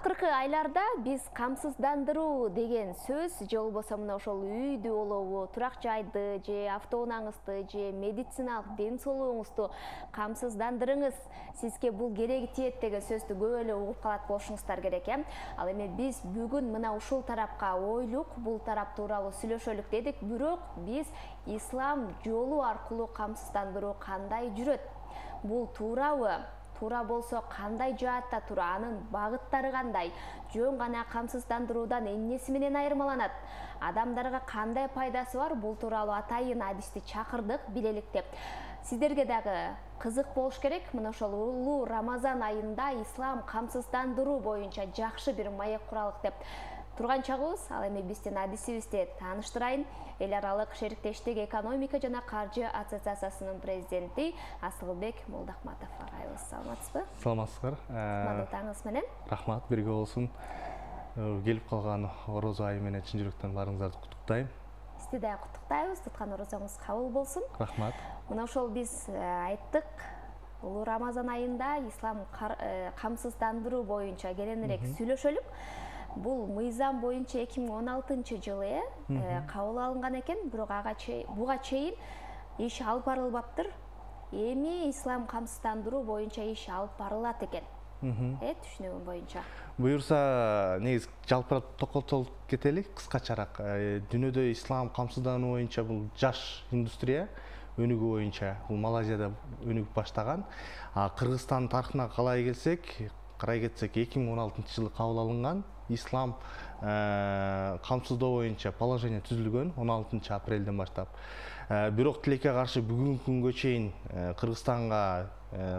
Акыркы айларда биз камсыздандыруу деген сөз же болбосо мына ошол үйдү болобу, турак жайды же автоунааңызды же медициналык ден соолугуңузду камсыздандырыңыз, сизге бул кереги тиет деген сөздү көп эле угуп калат болушуңуздар керек, Ал эми биз бүгүн мына ушул тарапка ойлук, бул тарап тууралуу сүйлөшөлүк дедик, бирок биз ислам жолу аркылуу камсыздандыруу кандай жүрөт? Бул туурабы? Туура болсо кандай жаатта туура, анын багыттары кандай, жөн гана камсыздандыруудан эмнеси менен айырмаланат, адамдарга кандай пайдасы бар, бул тууралуу атайын адисти чакырдык, билелик деп. Сиздерге дагы кызык болуш керек, мына ошол улуу Рамазан айында ислам камсыздандыруу боюнча жакшы бир маек куралык деп турган чагыбыз. Ал эми биздин адисибизди тааныштырайын. Эл аралык шериктештик экономика жана каржы ассоциациясынын президенти Асылбек Молдохматов агайыбыз. Саламатсызбы? Саламатсыздар. Кутмандуу таңыңыз менен. Рахмат, бирге болсун. Келип калган орозо айы менен чын жүрөктөн баарыңыздарды куттуктайм. Сизди да куттуктайбыз. Туткан орозоңуз кабыл болсун. Рахмат. Мына ошол биз айттык, улуу Рамазан айында ислам камсыздандыруу боюнча кененирээк сүйлөшөлүк. Бул мыйзам боюнча 2016-жылы кабыл алынган экен, бирок буга чейин иш алып барылбаптыр. Эми ислам камсыздандыруу боюнча иш алып барылат экен. Түшүнүгүм боюнча. Буюрса, негиз жалпырап токотолуп кетелик кыскачараак. Дүйнөдө ислам камсыздануу боюнча бул жаш индустрия өнүгүү боюнча бул Малайзияда өнүгүп баштаган. Кыргызстан тарыхына карай кетсек 2016-жылы кабыл алынган ислам камсыздоо боюнча положение түзүлгөн 16 апрелден баштап. Бирок тилекке каршы бүгүнкү күнгө чейин Кыргызстанга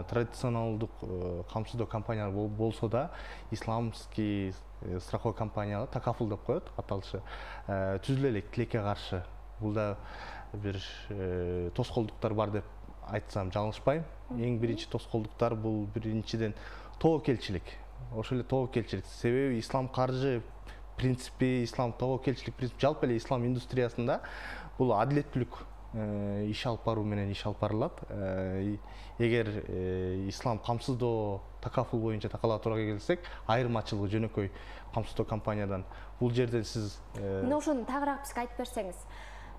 традиционалдык камсыздоо компаниялар болсо да, исламский страховой компаниялар, такафул деп коет аталышы, түзүлө элек тилекке каршы. Бул да бир тоскоолдуктар бар деп айтсам жалгышпайм. Эң биринчи тоскоолдуктар бул биринчиден тобокелчилик. Ошол эле тобокелчилик. Себеби ислам каржы принципи, ислам тобокелчилик принципи жалпы эле ислам индустриясында бул адилеттүүлүк иш алып баруу менен иш алып барылат. Эгер ислам камсыздоо такафул боюнча такалатууга келсек, айырмачылыгы жөнөкөй камсыздоо компаниядан. Бул жерде сиз мына ошону тагыраак бизге айтып берсеңиз.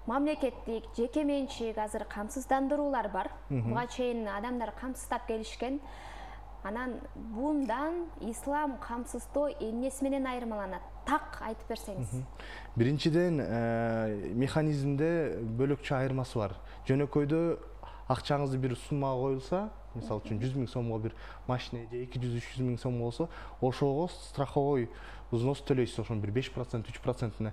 Мамлекеттик, жеке менчик азыр камсыздандыруулар бар. Буга чейин адамдар камсыздап келишкен. Анан бундан ислам камсыздоо эмнеси менен айырмаланат? Так айтып берсеңиз. Биринчиден механизмде бөлөкчө айырмасы бар. Жөнөкөйдө акчаңызды бир суммага коюлса, мисалы үчүн 100 000 сомго бир машина же 200-300 000 сом болсо, ошого страховой взнос төлөйсүз, ошонун бир 5%, 3%-на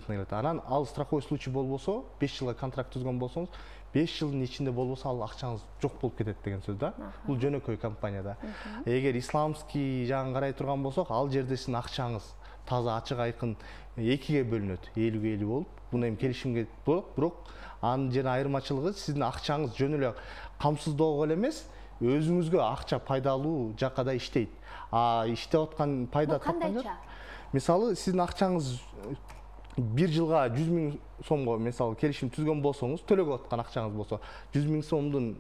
келет. Анан ал страховой случай болбосо, 5 жылга контракт түзгөн болсоңуз, 5 жылдын ичинде болбосо ал акчаңыз жок болуп кетет деген сөз да. Бул жөнөкөй компанияда. Эгер исламский жагын карай турган болсок, ал жерде сиздин акчаңыз таза ачык айкын экиге бөлүнөт, 50-50 болуп. Буну эми келишимге болот, бирок анын жана айырмачылыгы сиздин акчаңыз жөн эле камсыздоого эле эмес, өзүңүзгө акча пайдалуу жакка да иштейт. Иштеп аткан пайда кандайча? Мисалы, сиздин акчаңыз бир жылга 100 000 сомго мисалы келишим түзгөн болсоңуз, төлөгө аткан акчаңыз болсо, 100 000 сомдун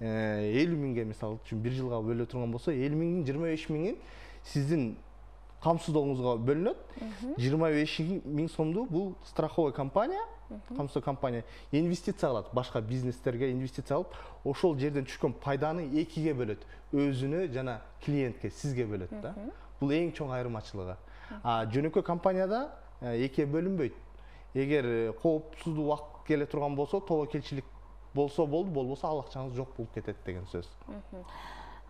50 000ге мисалы үчүн бир жылга бөлө турган болсо, 50 000-дин 25 000-ин сиздин камсыздооңузга бөлүнөт. 25 000 сомду бул страховой компания, камсыздоо компания инвестиция кылат, башка бизнестерге инвестиция алып, ошол жерден түшкөн пайданы экиге бөлөт. Өзүнө жана клиентке, сизге бөлөт да. Бул эң чоң айырмачылыгы. Жөнөкөй компанияда экиге бөлүнбөйт. Эгер коопсуздуу убакыт келе турган болсо, тобокелчилик болсо болду, болбосо ал акчаңыз жок болуп кетет деген сөз.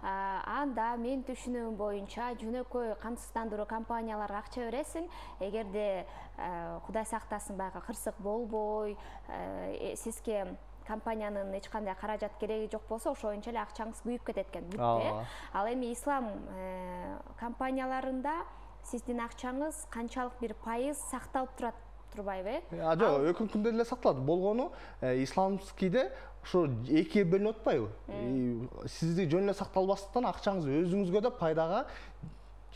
Анда мен түшүнүгүм боюнча жөнөкөй камсыздандыруу компанияларга акча бересиң, эгерде Кудай сактасын баягы кырсык болбой, сизге компаниянын эч кандай каражат кереги жок болсо, ошо боюнча эле акчаңыз күйүп кетет экен. Ал эми ислам компанияларында сиздин акчаңыз канчалык бир пайыз сакталып турбайбы? Жок, өкүн күндө эле сакталат. Болгону исламскийде ошо экиге бөлүнүп атпайбы? Сизди жөн эле сакталбастан акчаңыз өзүңүзгө да пайдага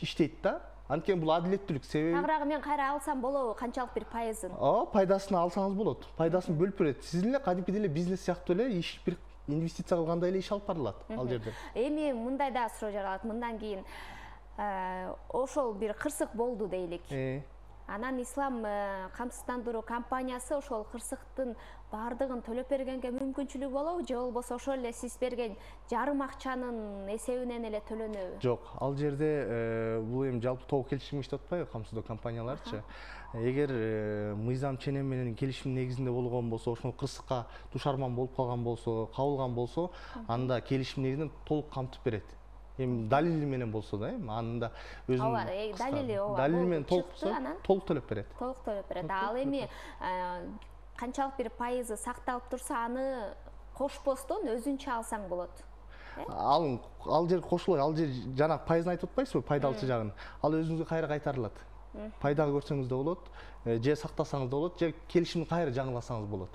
иштейт да. Анткени бул адилеттүүлүк себеби. Тагыраагы мен кайра алсам болобу, канчалык бир пайызын? Пайдасын алсаңыз болот. Пайдасын бөлүп берет. Сиздин эле кадимки деле бизнес сыяктуу эле иш бир инвестиция кылгандай эле иш алып барылат ал жерде. Эми мындай да суроо жаралат. Мындан кийин ошол бир кырсык болду дейлик. Анан ислам камсыздандыруу компаниясы ошол кырсыктын баардыгын төлөп бергенге мүмкүнчүлүгү болобу, же болбосо ошол эле сиз берген жарым акчанын эсебинен эле төлөнөбү? Жок, ал жерде бул эми жалпы тобок келишим иштеп атпайбы, камсыздоо компанияларчы. Эгер мыйзам ченем менен келишим негизинде болгон болсо, ошол кырсыкка душарман болуп калган болсо, кабылган болсо, анда келишим негизинен толук камтып берет. Эми далили менен болсо да, анда өзүнүн далили менен толук төлөп берет. Толук төлөп берет. Ал эми канчалык бир пайызы сакталып турса, аны кошпостон өзүнчө алсаң болот. Ал жер кошулбайт, ал жер жана пайызын айтып атпайсызбы, пайдалчы жагын. Ал өзүңүзгө кайра кайтарылат. Пайда көрсөңүз да болот, же сактасаңыз да болот, же келишимди кайра жаңыласаңыз болот.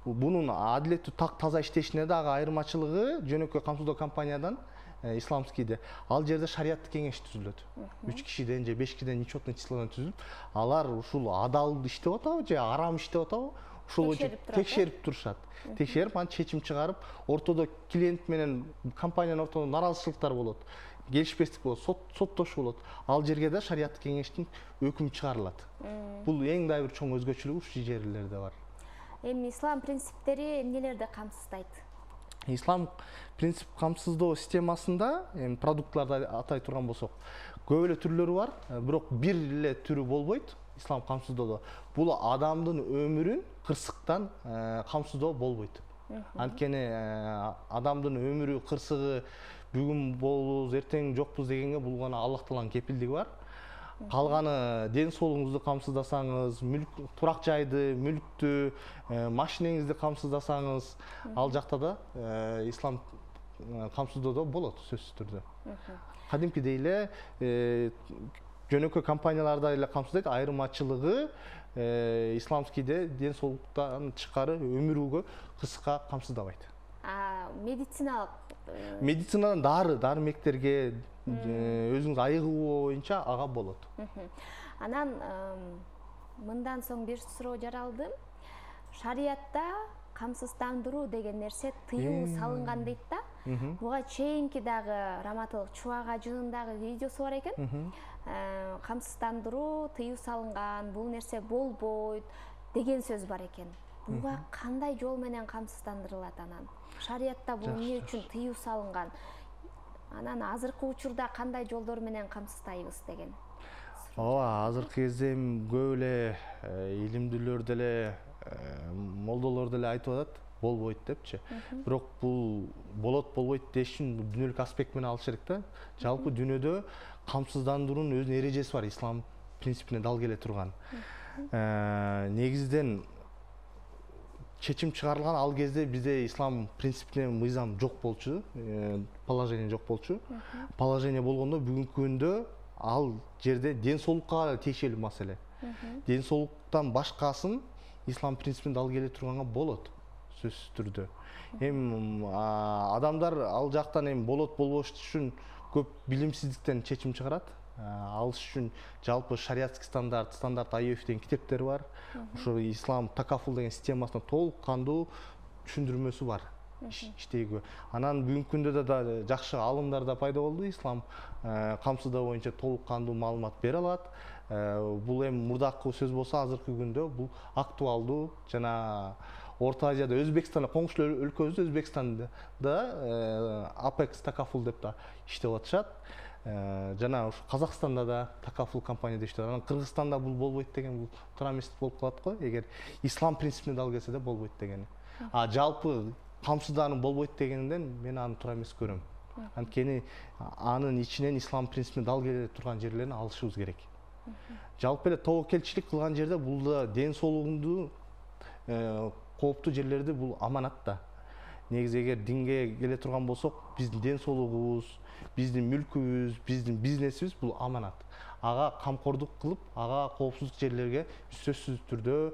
Бунун адилеттүү так таза иштешине дагы айырмачылыгы жөнөкөй камсыздоо компаниядан исламскийде. Ал жерде шариаттык кеңеш түзүлөт. 3 кишиден же 5 кишиден нечетный числодан түзүлүп, алар ушул адал иштеп атабы же арам иштеп атабы, ушул боюнча текшерип турушат. Текшерип, анан чечим чыгарып, ортодо клиент менен компаниянын ортодо наразычылыктар болот. Келишпестик болот, соттошуу болот. Ал жерге да шариаттык кеңештин өкүмү чыгарылат. Бул эң да бир чоң өзгөчөлүгү ушул жерлерде бар. Эми ислам принциптери эмнелерди камсыздайт? Ислам принцип камсыздоо системасында продуктларды атай турган болсок, көп эле түрлөрү бар, бирок бир эле түрү болбойт ислам камсыздоодо. Бул адамдын өмүрүн кырсыктан камсыздоо болбойт. Анткени адамдын өмүрү кырсыгы бүгүн болобуз, эртең жокпуз дегенге бул гана Аллах Тааланын кепилдиги бар. Калганы ден соолугуңузду камсыздасаңыз, турак жайды, мүлктү, машинеңизди камсыздасаңыз, ал жакта да ислам камсыздоодо болот сөзсүз түрдө. Кадимкидей эле жөнөкөй компанияларда эле камсыздайт, айырмачылыгы исламскийде ден соолуктан тышкары өмүрүгө кырсыкка камсыздабайт. Медицинадан дары-мектерге өзүңүз айыгуу боюнча ага болот. Анан мындан соң бир суроо жаралды. Шариятта камсыздандыруу деген нерсе тыюу салынган дейт да. Буга чейинки дагы Раматылык Чубак ажынын дагы видеосу бар экен. Камсыздандыруу тыюу салынган, бул нерсе болбойт деген сөз бар экен. Буга кандай жол менен камсыздандырылат анан? Шариятта бул эмне үчүн тыюу салынган? Анан азыркы учурда кандай жолдор менен камсыздайбыз деген. Ооба, азыркы кезде көп эле илимдүүлөр деле, молдолор деле айтып атат, болбойт депчи. Бирок бул болот, болбойт деш үчүн дүйнөлүк аспект менен алыш керек да. Жалпы дүйнөдө камсыздандыруунун өзүнүн эрежеси бар, ислам принципине дал келе турган. Негизинен чечим чыгарылган ал кезде бизде ислам принципине мыйзам жок болчу, положение жок болчу. Положение болгондо бүгүнкү күндө ал жерде ден соолукка тиешелүү маселе. Ден соолуктан башкасын ислам принципине дал келе турганга болот сөзсүз түрдө. Адамдар ал жактан болот болбош үчүн көп билимсиздиктен чечим чыгарат. Ал үчүн жалпы шариаттык стандарт IOF деген китептер бар. Ошо ислам такафул деген системасына толук кандуу түшүндүрмөсү бар иштейгө. Анан бүгүнкү күндө да жакшы аалымдар да пайда болду. Ислам камсыздоо боюнча толук кандуу маалымат бере алат. Бул мурдакы сөз болсо, азыркы күндө бул актуалдуу. Жана Орто Азияда, Өзбекстанда, коңшу өлкөбүздө, Өзбекстанда Apex такафул деп да иштеп атышат. Жана Казакстанда да такафул компанияда иштеп атат. Кыргызстанда бул болбойт деген бул туура эмес болуп калат го. Эгер ислам принципине дал келсе да болбойт деген. Жалпы камсыздануу болбойт дегенден мен аны туура эмес көрөм. Анткени анын ичинен ислам принципине дал келе турган жерлерин алышыбыз керек. Жалпы эле тобокелчилик кылган жерде бул да ден соолугунду кооптуу жерлерди бул аманат да. Негизи эгер динге келе турган болсок, биздин ден соолугубуз, биздин мүлкүбүз, биздин бизнесибиз бул аманат. Ага камкордук кылып, ага коопсуздук жерлерге сөзсүз түрдө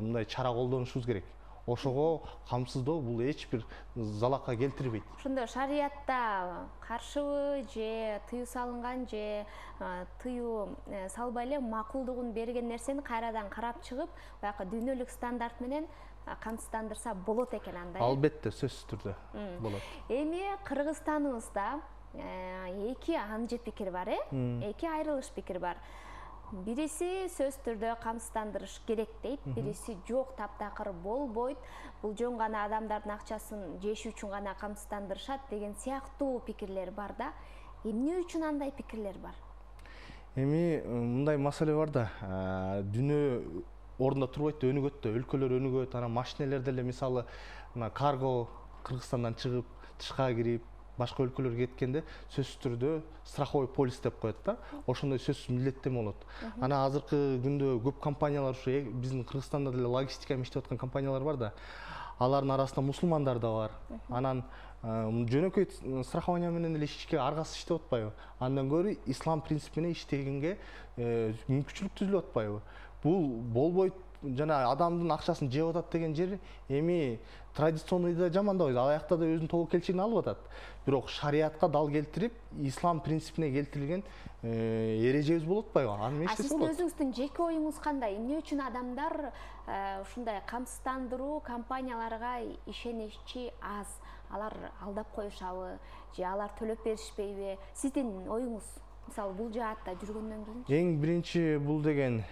мындай чара колдонушубуз керек. Ошого камсыздоо бул эч бир залалга келтирбейт. Ошондо шариятта каршыбы же тыюу салынган же тыюу салбай эле макулдугун берген нерсени кайрадан карап чыгып, баягы дүйнөлүк стандарт менен камсыздандырса болот экен андай. Албетте, сөзсүз түрдө болот. Эми Кыргызстаныбызда эки анжы пикир бар, эки айрылыш пикир бар. Бириси сөз түрдө камсыздандырыш керек дейт, бириси жок, таптакыр болбойт. Бул жөн гана адамдардын акчасын жеш үчүн гана камсыздандырышат деген сыяктуу пикирлер бар да. Эмне үчүн андай пикирлер бар? Эми мындай маселе бар да, дүнөө ордунда турбайт да, өнүгөт да, өлкөлөр өнүгөт, анан машинелер деле мисалы мына карго Кыргызстандан чыгып, тышка кирип, башка өлкөлөргө кеткенде сөзсүз түрдө страховой полис деп коет да. Ошондой сөзсүз милдеттеме болот. Анан азыркы күндө көп компаниялар ушу биздин Кыргызстанда деле логистика иштеп аткан компаниялар бар да. Алардын арасында мусулмандар да бар. Анан жөнөкөй страхование менен эле ишке аргасы иштеп атпайбы? Андан көрө ислам принцип менен иштегенге мүмкүнчүлүк түзүлүп атпайбы? Бул болбойт, жана адамдын акчасын жеп атат деген жер эми традиционный да жамандабайбыз. Ал жакта да өзүнүн тобокелчилигин алып атат. Бирок шариатка дал келтирип, ислам принципине келтирилген эрежебиз болуп атпайбы? Аны мен иштесе болот. Сиздин өзүңүздүн жеке оюңуз кандай? Эмне үчүн адамдар ушундай камсыздандыруу компанияларга ишеничи аз? Алар алдап коюшабы же алар төлөп беришпейби? Сиздин оюңуз мисалы бул жаатта жүргөндөн кийин? Эң биринчи бул деген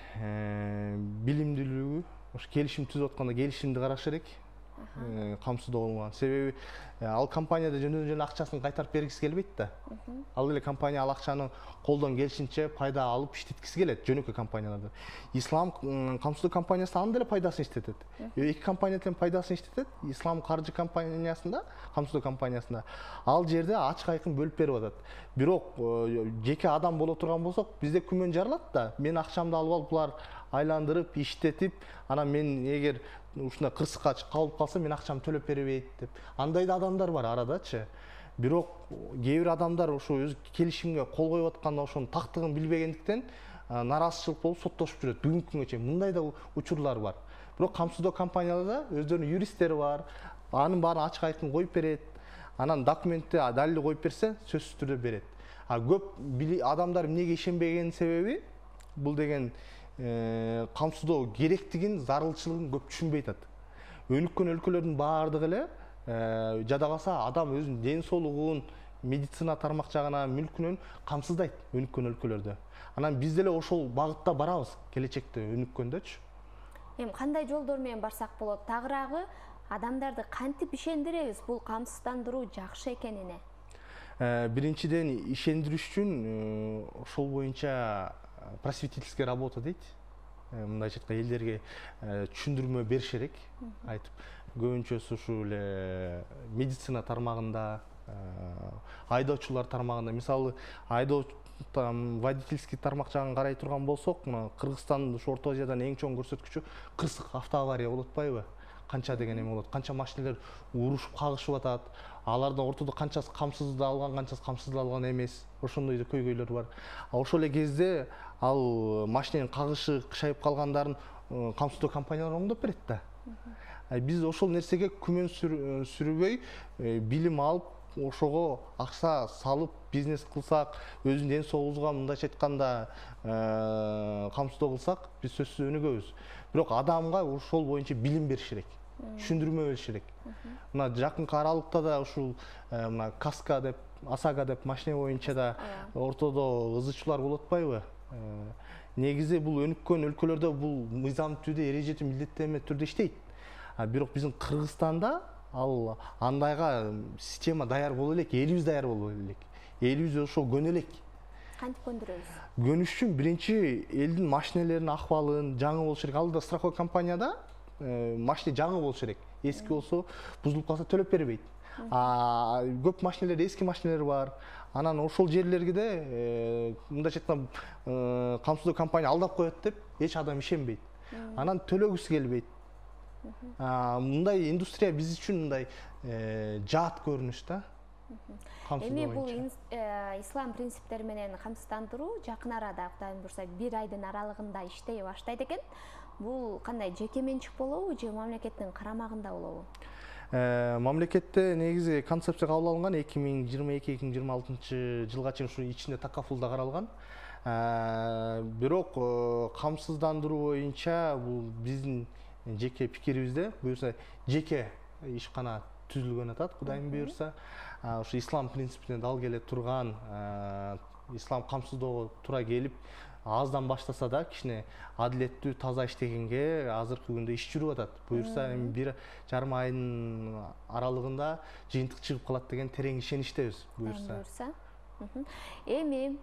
билимдүүлүгү. Ош келишим түзүп атканда келишимди караш керек. Камсыздоо болгон. Себеби ал компанияда жөндөн акчасын кайтарып бергиси келбейт да. Ал эле компания ал акчаны колдон келишинче пайда алып иштеткиси келет жөнөкөй компанияларда. Ислам камсыздоо компаниясы анын деле пайдасын иштетет. Эки компания тең пайдасын иштетет. Ислам каржы компаниясында, камсыздоо компаниясында ал жерде ачык айкын бөлүп берип атат. Бирок жеке адам боло турган болсок, бизде күмөн жаралат да. Мен акчамды алып алып булар айландырып, иштетип, анан мен эгер ушундай кырсыкка калып калса, мен акчамды төлөп бербейт деп. Андай да адамдар бар арадачы. Бирок кээ бир адамдар ошо өз келишимге кол коюп атканда ошонун тактыгын билбегендиктен нараазычылык болуп соттошуп жүрөт. Бүгүнкү күнгө чейин мындай да учурлар бар. Бирок камсыздоо компанияларда өздөрүнүн юристтери бар. Анын баарын ачык айкын коюп берет. Анан документти далил коюп берсе, сөзсүз түрдө берет. Көп адамдар эмнеге ишенбегенин себеби бул деген камсыздоо керектигин, зарылчылыгын көп түшүнбөй атат. Өнүккөн өлкөлөрдүн баардыгы эле жада калса адам өзүнүн ден соолугун, медицина тармак жагынан, мүлкүнөн камсыздайт өнүккөн өлкөлөрдө. Анан биз деле ошол багытта барабыз келечекте өнүккөндөчү. Эми кандай жолдор менен барсак болот? Тагыраагы адамдарды кантип ишендиребиз бул камсыздандыруу жакшы экенине? Биринчиден ишендириш үчүн ошол боюнча просветительская работа дейт. Мындайча айтканда элдерге түшүндүрмө бериш керек. Айтып, көбүнчөсү ушул эле медицина тармагында, айдоочулар тармагында, мисалы водительский тармак жагын карай турган болсок, мына Кыргызстандын ушу Орто Азиядан эң чоң көрсөткүчү 40 автоавария болуп атпайбы? Канча деген эме болот? Канча машинелер урушуп кагышып атат? Алардын ортодо канчасы камсыздалган, канчасы камсыздалган эмес? Ошондой көйгөйлөр бар. Ошол эле кезде ал машиненин кагышы кышайып калгандарын камсыздоо компаниялар оңдоп берет да. Биз ошол нерсеге күмөн сүрбөй, билим алып, ошого акча салып, бизнес кылсак, өзүнүн ден соолугубузга мындайча айтканда камсыздоо кылсак, биз сөзсүз өнүгөбүз. Бирок адамга ошол боюнча билим бериш керек. Түшүндүрмө бериш керек. Мына жакынкы аралыкта да ушул мына Каска деп, Асага деп машина боюнча да ортодо ызычуулар болуп атпайбы? Негизи бул өнүккөн өлкөлөрдө бул мыйзам түрдө, эрежети милдеттенме түрдө иштейт. Бирок биздин Кыргызстанда ал андайга система даяр боло элек, элибиз даяр боло элек. Элибиз ошо көнө элек. Кантип көндүрөбүз? Көнүш үчүн биринчи элдин машинелеринин акыбалын жаңы болуш керек. Ал да страховой компанияда машина жаңы болуш керек. Эски болсо, бузулуп калса төлөп бербейт. Көп машинелер, эски машинелер бар. Анан ошол жерлерге мындайча айтканда камсыздоо компания алдап коет деп эч адам ишенбейт. Анан төлөгүсү келбейт. Мындай индустрия биз үчүн мындай жаат көрүнүш да. Эми бул ислам принциптери менен камсыздандыруу жакын арада, Кудайым буйрса, 1 айдын аралыгында иштей баштайт экен. Бул кандай, жеке менчик болобу же мамлекеттин карамагында болобу? Мамлекетте негизи концепция кабыл алынган 2022-2026 жылга чейин ушу ичинде такафулда каралган. Бирок камсыздандыруу боюнча бул биздин жеке пикирибизде, буюрса жеке ишкана түзүлгөн атат, Кудайым буйрса. ушу ислам принципине дал келе турган, ислам камсыздоого туура келип, аздан баштаса да кичине адилеттүү, таза иштегенге азыркы күндө иш жүрүп атат. Буюрса эми 1,5 айдын аралыгында жыйынтык чыгып калат деген терең ишеничтебиз. Буюрса. Эми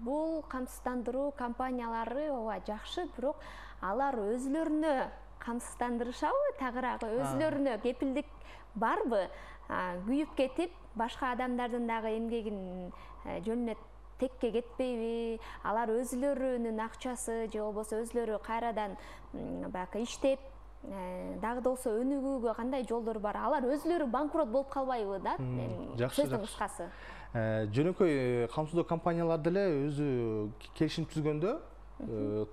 бул камсыздандыруу компаниялары ооба жакшы, бирок алар өзүлөрүнө камсыздандырышабы, тагыраак өзүлөрүнө кепилдик барбы? Күйүп кетип, башка адамдардын дагы эмгегин жөнүнө текке кетпейби? Алар өзүлөрүнүн акчасы же болбосо өзүлөрү кайрадан баягы иштеп, дагы да болсо өнүгүүгө кандай жолдор бар? Алар өзүлөрү банкрот болуп калбайбы да? Сөздүн кыскасы. Жөнөкөй камсыздоо компаниялар деле өзү келишим түзгөндө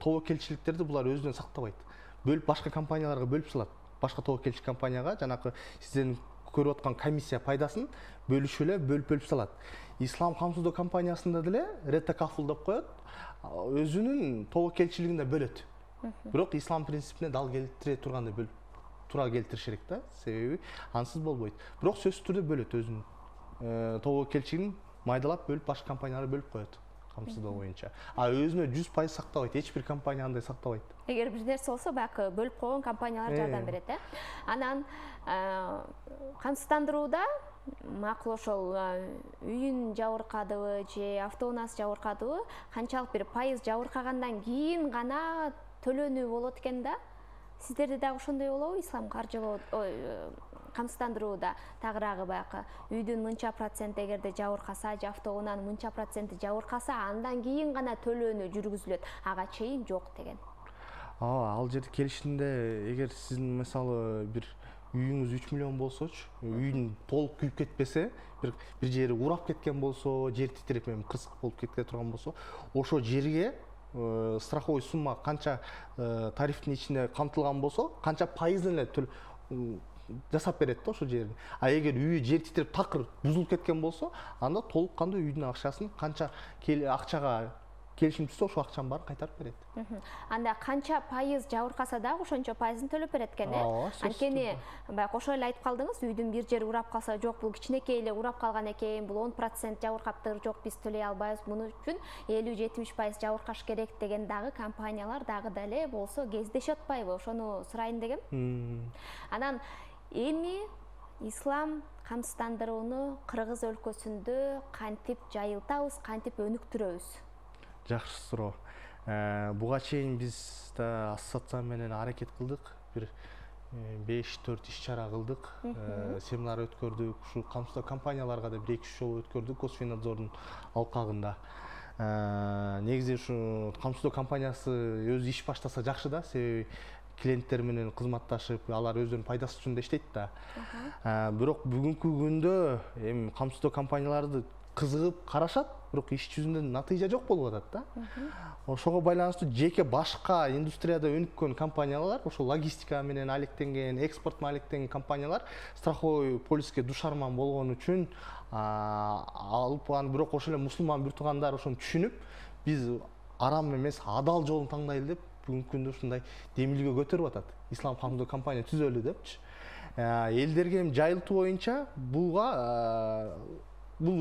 тобокелчиликтерди булар өзүнөн сактабайт. Бөлүп башка компанияларга бөлүп салат. Башка тобокелчи компанияга жанакы сиздердин көрүп аткан комиссия пайдасын бөлүшүп эле бөлүп салат. Ислам камсыздоо компаниясында деле Рета Кафул деп коет, өзүнүн тобокелчилигин да бөлөт. Бирок ислам принципине дал келтире тургандай бөлүп туура келтириш керек да, себеби ансыз болбойт. Бирок сөзсүз түрдө бөлөт өзүнүн тобокелчилигин майдалап бөлүп башка компанияларга бөлүп коет камсыздоо боюнча. Өзүнө 100% сактабайт, эч бир компания андай сактабайт. Эгер бир нерсе болсо баягы бөлүп койгон компаниялар жардам берет, Анан камсыздандырууда макул ошол үйүн жабыркадыбы же автоунаасы жабыркадыбы, канчалык бир пайыз жабыркагандан кийин гана төлөнүү болот экен да? Сиздерде дагы ошондой болобу? Ислам каржылоо камсыздандырууда тагыраагы баягы үйдүн мынча проценти эгерде жабыркаса же автоунаанын мынча проценти жабыркаса, андан кийин гана төлөнүү жүргүзүлөт, ага чейин жок деген. Ал жерде келишимде эгер сиздин мисалы бир үйүңүз 3 миллион болсочу, үйүн толук күйүп кетпесе, бир жери урап кеткен болсо, жер титиреп кырсык болуп кетке турган болсо, ошо жерге страховой сумма канча тарифтин ичинде камтылган болсо, канча пайызын эле жасап берет да ошол жерин. Эгер үйү жер титирип такыр бузулуп кеткен болсо, анда толук кандуу үйдүн акчасын канча акчага келишим түзсө, ошол акчанын баарын кайтарып берет. Анда канча пайыз жабыркаса дагы ошончо пайызын төлөп берет экен, Анткени баягы ошол эле айтып калдыңыз, үйдүн бир жери урап калса, жок бул кичинекей эле урап калган экен, бул 10% жабыркаптыр, жок биз төлөй албайбыз, муну үчүн 50-70% жабыркаш керек деген дагы компаниялар дагы деле болсо кездешип атпайбы? Ошону сурайын дегем. Анан эми ислам камсыздандырууну Кыргыз өлкөсүндө кантип жайылтабыз, кантип өнүктүрөбүз? Жакшы суроо. Буга чейин биз да ассоциация менен аракет кылдык. Бир 5-4 иш-чара кылдык. Семинар өткөрдүк. Ушу камсыздоо компанияларга да 1-2 жолу өткөрдүк Госфиннадзордун алкагында. Негизи ушу камсыздоо компаниясы өзү иш баштаса жакшы да, себеби клиенттер менен кызматташып, алар өздөрүнүн пайдасы үчүн да иштейт да. Бирок бүгүнкү күндө эми камсыздоо компанияларды кызыгып карашат, бирок иш жүзүндө натыйжа жок болуп атат да. Ошого байланыштуу жеке башка индустрияда өнүккөн компаниялар, ошол логистика менен алектенген, экспорт менен алектенген компаниялар страховой полиске душарман болгон үчүн алып аны, бирок ошол эле мусулман бир туугандар ошону түшүнүп, биз арам эмес, адал жолун тандайлы деп бүгүнкү күндө ушундай демилгөө көтөрүп атат. Ислам камсыздоо компания түзөлү депчи. Элдерге жайылтуу боюнча бул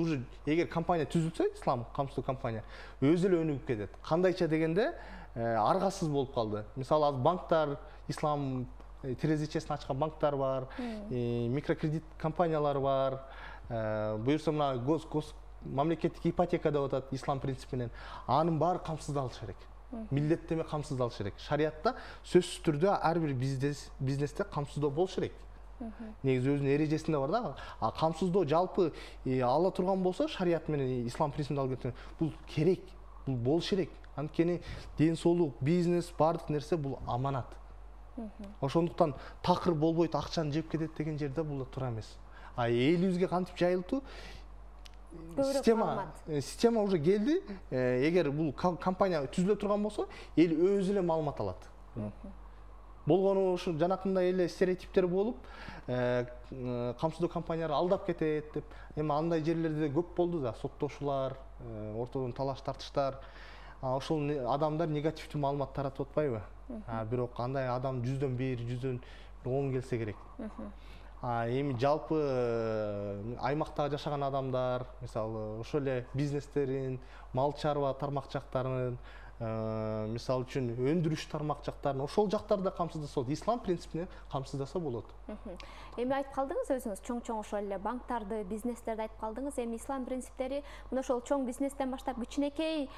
уже эгер компания түзүлсө, ислам камсыздоо компания өзү эле өнүгүп кетет. Кандайча дегенде аргасыз болуп калды. Мисалы азыр банктар, ислам терезечесин ачкан банктар бар, микрокредит компаниялар бар. Буюрса мына мамлекеттик ипотека деп атат ислам принципинен. Анын баары камсыздалышы керек. Милдеттеме камсыздалышы керек. Шариятта сөзсүз түрдө ар бир бизнесте камсыздоо болушу керек. Негизи өзүнүн эрежесинде бар да. Камсыздоо жалпы ала турган болсо, шарият менен ислам принципине алып кеткен, бул керек, бул болушу керек. Анткени ден соолук, бизнес, баардык нерсе бул аманат. Ошондуктан такыр болбойт, акчаны жеп кетет деген жерде бул туура эмес. Элибизге кантип жайылтуу? Система уже келди. Эгер бул компания түзүлө турган болсо, эл өзү эле маалымат алат. Болгону ушу жанакындай эле стереотиптер болуп, камсыздоо компаниялар алдап кетет деп. Эми андай жерлерде көп болду да, соттошуулар, ортодон талаш тартыштар. Ошол адамдар негативдүү маалымат таратып атпайбы? Бирок андай адам 100дөн 1, 100дөн 10 келсе керек. Эми жалпы аймакта жашаган адамдар, мисалы ошол эле бизнестерин, мал чарба тармакчактарын, мисалы үчүн өндүрүш тармакчактарын ошол жактарда камсыздаса болот. Ислам принципине камсыздаса болот. Эми айтып калдыңыз өзүңүз чоң ошол эле банктарды, бизнестерди айтып калдыңыз. Эми ислам принциптери мына ошол чоң бизнестен баштап кичинекей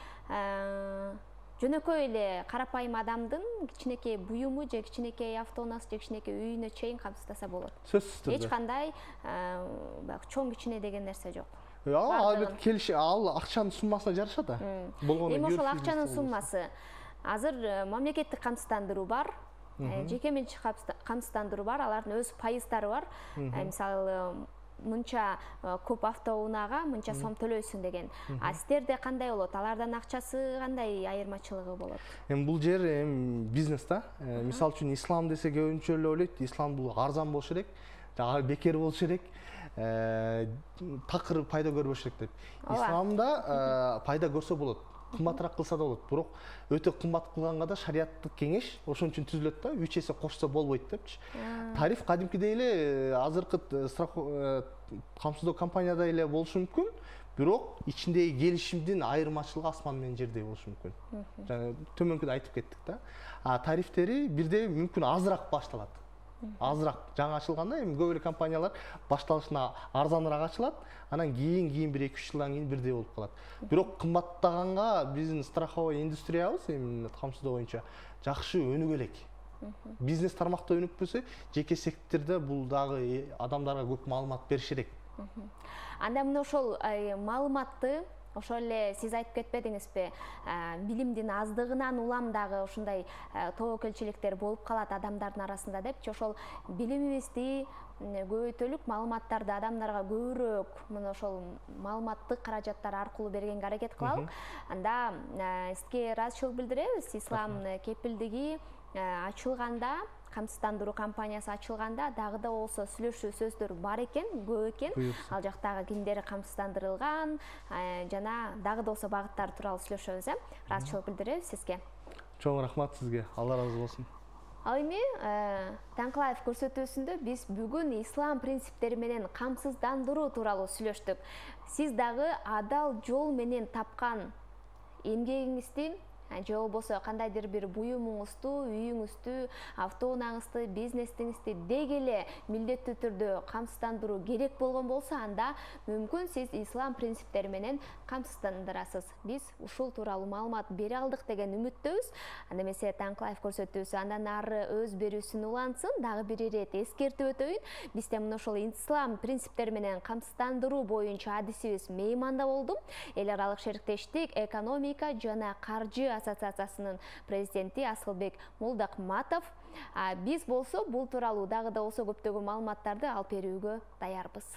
жөнөкөй эле карапайым адамдын кичинекей буюму же кичинекей автоунаасы же кичинекей үйүнө чейин камсыздаса болот. Сөзсүз түрдө. Эч кандай баягы чоң кичине деген нерсе жок. Албетте келиши, ал акчанын суммасына жараша да. Эми ошол акчанын суммасы азыр мамлекеттик камсыздандыруу бар, жеке менчик камсыздандыруу бар, алардын өз пайыздары бар. Мисалы мынча көп автоунаага мынча сом төлөйсүң деген. Сиздерде кандай болот? Алардын акчасы кандай айырмачылыгы болот? Эми бул жер бизнес да. Мисалы үчүн ислам десе көбүнчө эле ойлойт, ислам бул арзан болуш керек, бекер болуш керек, такыр пайда көрбөш керек деп. Исламда пайда көрсө болот, кымбатыраак кылса да болот, бирок өтө кымбат кылганга да шариаттык кеңеш ошон үчүн түзүлөт да, 3 эсе кошсо болбойт депчи. Тариф кадимкидей эле азыркы камсыздоо компанияда эле болушу мүмкүн, бирок ичиндеги келишимдин айырмачылыгы асман менен жердей болушу мүмкүн. Жана төмөнкүдө айтып кеттик да. Тарифтери бирде мүмкүн азыраак башталат. Азыраак жаңы ачылганда эми көп эле компаниялар башталышында арзаныраак ачылат, анан кийин 1-2 жылдан кийин бирдей болуп калат. Бирок кымбаттаганга биздин страховой индустриябыз эми камсыздоо боюнча жакшы өнүгө элек. Бизнес тармакта өнүкпөсө, жеке сектордо бул дагы адамдарга көп маалымат бериш керек. Анда мына ошол маалыматты ошол эле сиз айтып кетпедиңизби, билимдин аздыгынан улам дагы ушундай тобокелчиликтер болуп калат адамдардын арасында депчи. Ошол билимибизди көбөйтөлүк, маалыматтарды адамдарга көбүрөөк мына ошол маалыматтык каражаттар аркылуу бергенге аракет кылалык. Анда сизге ыраазычылык билдиребиз. Ислам кепилдиги ачылганда, камсыздандыруу компаниясы ачылганда дагы да болсо сүйлөшүү сөздөр бар экен, көп экен. Ал жактагы кимдер камсыздандырылган, жана дагы да болсо багыттары тууралуу сүйлөшөбүз. Ыраазычылык билдиребиз сизге. Чоң рахмат сизге. Алла ыраазы болсун. Ал эми Таңкылаев көрсөтүүсүндө биз бүгүн ислам принциптери менен камсыздандыруу тууралуу сүйлөштүк. Сиз дагы адал жол менен тапкан эмгегиңизди же болбосо кандайдыр бир буюмуңузду, үйүңүздү, автоунааңызды, бизнесиңизди деги эле милдеттүү түрдө камсыздандыруу керек болгон болсо, анда мүмкүн сиз ислам принциптери менен камсыздандырасыз. Биз ушул тууралуу маалымат бере алдык деген үмүттөбүз. Анда эмесе Таңкылаев көрсөтүүсү андан ары өз берүүсүн улантсын. Дагы бир ирет эскертип өтөйүн. Бизде мына ошол ислам принциптери менен камсыздандыруу боюнча адисибиз мейманда болду. Эл аралык шериктештик экономика жана каржы ассоциациясынын президенти Асылбек Молдокматов. Биз болсо бул тууралуу дагы да болсо көптөгөн маалыматтарды алып берүүгө даярбыз.